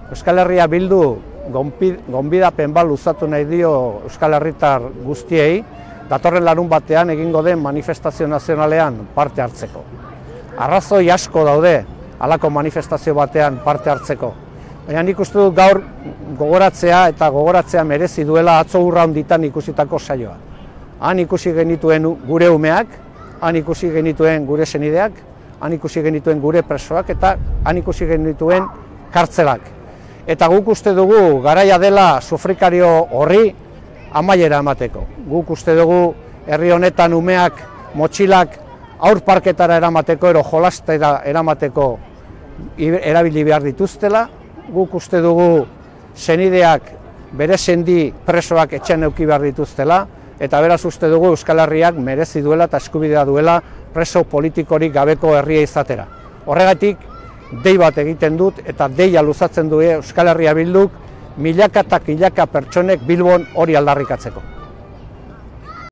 Euskal Herria Bildu gonbidapen bat luzatu nahi dio Euskal Herritar guztiei, datorren larunbatean egingo den manifestazio nazionalean parte hartzeko. Arrazoi asko daude halako manifestazio batean parte hartzeko. Baina nik uste dut gaur gogoratzea merezi duela atzo urra honditan ikusitako saioa. Han ikusi genituen gure umeak, han ikusi genituen gure senideak, han ikusi genituen gure presoak eta han ikusi genituen kartzelak. Eta guk uste dugu garaia dela sufrikario horri amaiera emateko. Guk uste dugu herri honetan umeak, motxilak aurparketara eramateko, jolastera eramateko erabili behar dituztela. Guk uste dugu senideak bere sendi presoak etxean eduki behar dituztela, eta beraz uste dugu Euskal Herriak merezi duela eta eskubidea duela preso politikorik gabeko herria izatera. Horregatik, dei bat egiten dut eta deia luzatzen du Euskal Herria Bilduk milaka eta milaka pertsonek Bilbon hori aldarrikatzeko.